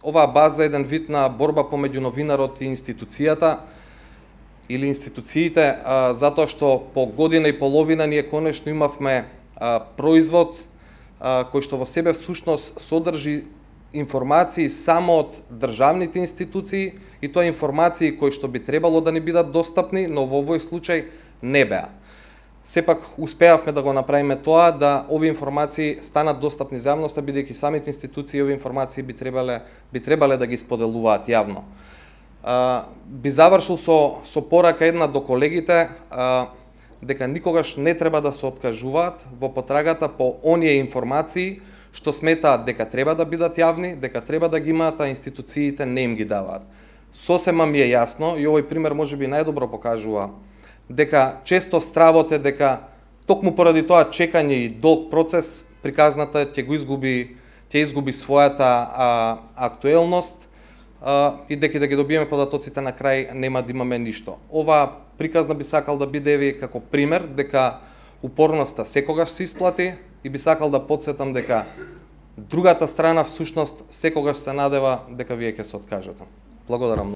оваа база е еден вид на борба помеѓу новинарот и институцијата или институциите, затоа што по година и половина ние конечно имавме производ кој што во себе всушност содржи информации само од државните институции, и тоа информации кои што би требало да ни бидат достапни, но во овој случај не беа. Сепак успеавме да го направиме тоа, да овие информации станат достапни за јавноста, бидејќи самите институции овие информации би требале да ги споделуваат јавно. Би завршил со порака една до колегите, дека никогаш не треба да се откажуваат во потрагата по оние информации што сметаат дека треба да бидат јавни, дека треба да ги имаат, а институциите не им ги даваат. Сосема ми е јасно, и овој пример можеби најдобро покажува дека често стравот е дека токму поради тоа чекање и долг процес приказната ќе изгуби својата актуелност и дека да ги добиеме податоците на крај нема да имаме ништо. Ова приказна би сакал да биде ви како пример дека упорноста секогаш се исплати, и би сакал да потсетам дека другата страна всушност секогаш се надева дека вие ќе се откажете. Благодарам.